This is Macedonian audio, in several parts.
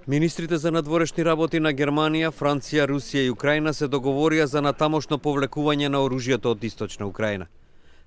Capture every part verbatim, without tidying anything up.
Министрите за надворешни работи на Германија, Франција, Русија и Украина се договорија за натамошно повлекување на оружјето од Источна Украина.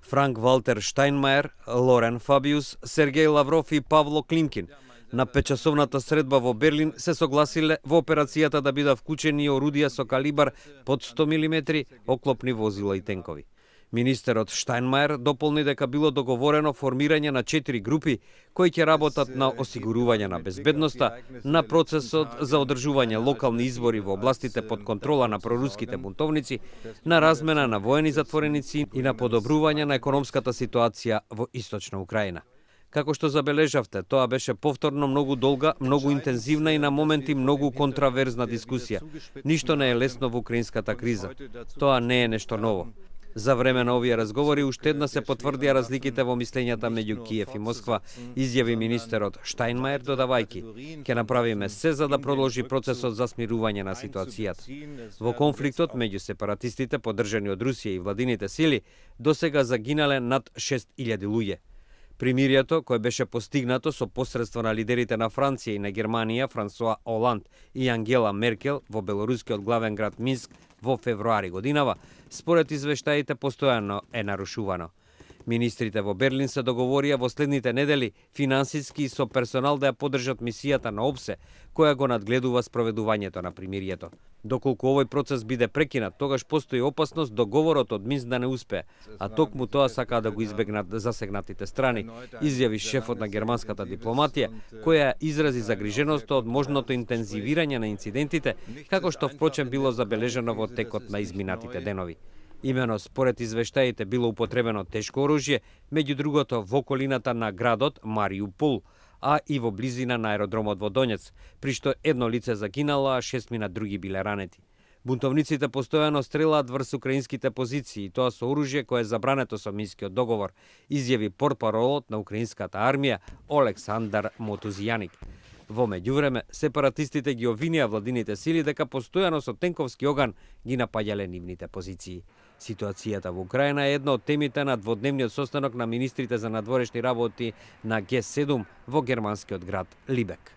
Франк Валтер Штајнмајер, Лорен Фабиус, Сергеј Лавров и Павло Климкин на петчасовната средба во Берлин се согласиле во операцијата да бидат вклучени орудија со калибар под сто милиметри, оклопни возила и тенкови. Министерот Штајнмајер дополни дека било договорено формирање на четири групи кои ќе работат на осигурување на безбедноста, на процесот за одржување локални избори во областите под контрола на проруските бунтовници, на размена на воени затвореници и на подобрување на економската ситуација во Источна Украина. Како што забележавте, тоа беше повторно многу долга, многу интензивна и на моменти многу контраверзна дискусија. Ништо не е лесно во украинската криза. Тоа не е нешто ново. За време на овие разговори уште една се потврдија разликите во мислењата меѓу Киев и Москва, изјави министерот Штајнмајер, додавајки: "Ќе направиме се за да продолжи процесот за смирување на ситуацијата. Во конфликтот меѓу сепаратистите поддржани од Русија и владините сили, досега загинале над шест илјади луѓе. Примирието, кое беше постигнато со посредство на лидерите на Франција и на Германија, Франсуа Оланд и Ангела Меркел во белорускиот главен град Минск во февруари годинава, според извештаите постојано е нарушувано. Министрите во Берлин се договорија во следните недели финансиски и со персонал да ја поддржат мисијата на ОБСЕ, која го надгледува спроведувањето на примирието. Доколку овој процес биде прекинат, тогаш постои опасност договорот од Минск да не успее, а токму тоа сакаат да го избегнат засегнатите страни, изјави шефот на германската дипломатија, која изрази загриженост од можното интензивирање на инцидентите, како што впрочем било забележано во текот на изминатите денови. Имено според извештаите било употребено тешко оружје, меѓу другото во околината на градот Мариупол, а и во близина на аеродромот во Донец, при што едно лице загинало, а шестмина други биле ранети. Бунтовниците постојано стрелаат врз украинските позиции, и тоа со оружје кое е забрането со Минскиот договор, изјави портпаролот на украинската армија Олександар Мотузјаник. Во меѓувреме, сепаратистите ги обвинија владините сили дека постојано со тенковски оган ги напаѓале нивните позиции. Ситуацијата во Украина е една од темите на дводневниот состанок на министрите за надворешни работи на Ге седум во германскиот град Либек.